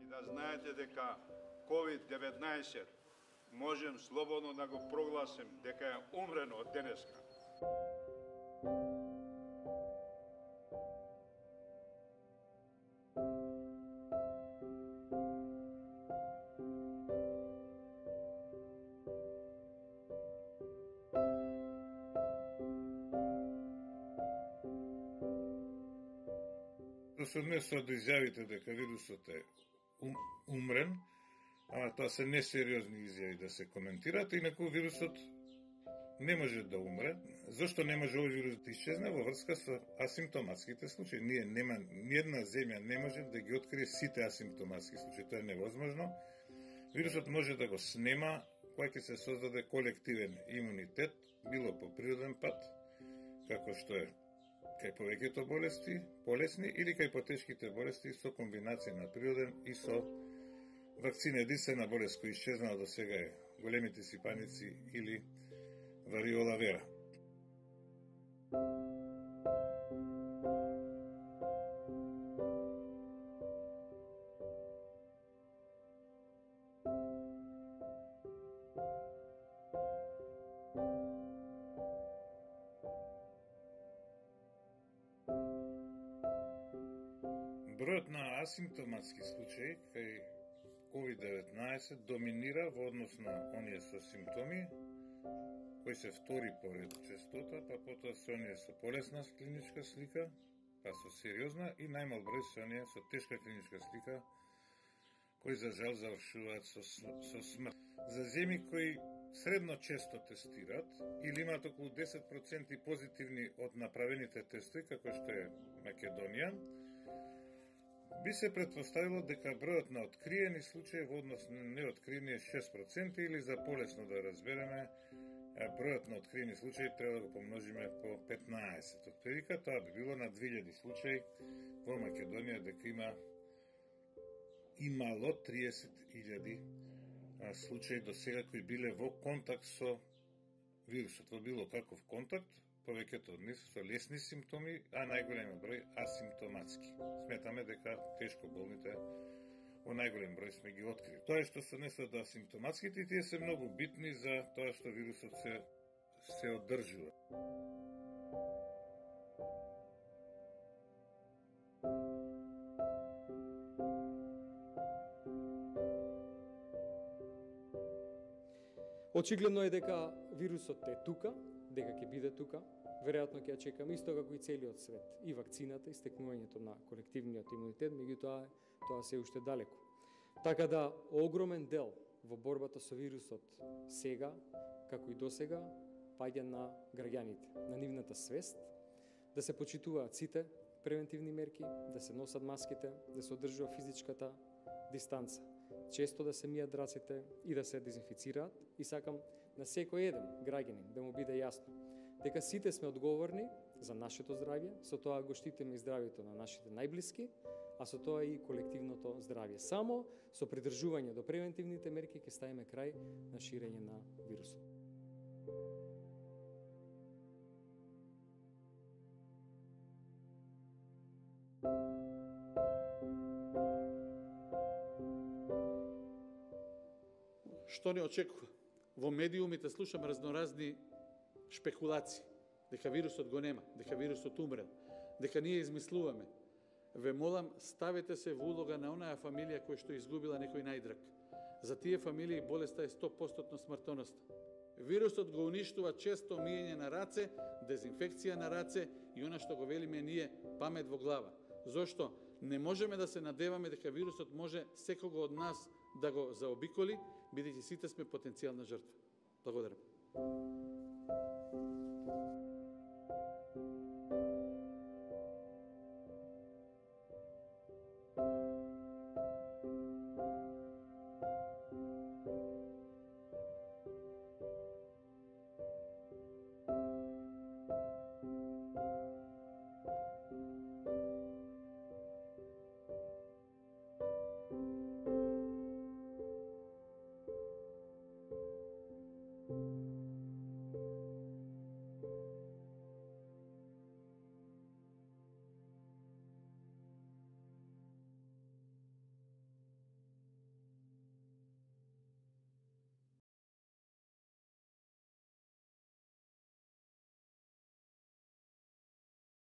И да знаете дека COVID-19 можем слободно да го прогласим дека е умрено од денеска. Се однесува до изјавите дека вирусот е умрен, тоа се несериозни изјави да се коментираат, инаку вирусот не може да умре. Зошто не може овој вирус да исчезне? Во врска со асимптоматските случаи. Ниедна земја не може да ги открие сите асимптоматски случаи. Тоа е невозможно. Вирусот може да го снема кога ќе се создаде колективен имунитет, било по природен пат, како што е кај повеќето болесни или кај потешките болести со комбинација на природен и со вакцина. Единствена болест која исчезнала до сега е големите сипаници или вариола вера. Бројот на асимптоматски случаи кај COVID-19 доминира во однос на оние со симптоми, кои се втори по ред честота, па потоа се оние со полесна клиничка слика, па со сериозна и најмал број се оние со тешка клиничка слика, кои за жал завршуваат со смрт. За земји кои средно често тестираат или имаат околу 10% позитивни од направените тестови, како што е Македонија, би се претпоставило дека бројот на откриени случаи во однос на неоткриени е 6% или за полесно да разбереме, бројот на откриени случаи треба да го помножиме по 15. Од прилика тоа би било на 2000 случаи во Македонија дека имало 30.000 случаи до сега кои биле во контакт со вирусот, во било каков контакт, повеќето од нив со лесни симптоми, а најголемиот број асимптоматски. Сметаме дека тешко болните во најголем број сме ги открили. Тоа што се однесува до асимптоматските, тие се многу битни за тоа што вирусот се одржува. Очигледно е дека вирусот е тука, дека ќе биде тука, веројатно ќе ја чекаме исто како и целиот свет, и вакцината, и стекнувањето на колективниот имунитет, меѓутоа тоа се уште далеку. Така да огромен дел во борбата со вирусот сега, како и досега, паѓа на граѓаните, на нивната свест, да се почитуваат сите превентивни мерки, да се носат маските, да се одржува физичката дистанца, често да се мијат рацете и да се дезинфицираат, и сакам на секој еден граѓанин да му биде јасно дека сите сме одговорни за нашето здравје, со тоа го штитиме и здравјето на нашите најблиски, а со тоа и колективното здравје. Само со придржување до превентивните мерки ќе ставиме крај на ширење на вирусот. Што не очекува? Во медиумите слушам разноразни шпекулации, дека вирусот го нема, дека вирусот умрел, дека ние измислуваме. Ве молам, ставете се во улога на онаа фамилија која што изгубила некој најдраг. За тие фамилии болеста е 100% смртоносна. Вирусот го уништува често миење на раце, дезинфекција на раце и она што го велиме ние памет во глава. Зошто? Не можеме да се надеваме дека вирусот може секого од нас да го заобиколи, бидејќи сите сме потенцијална жртва. Благодарам.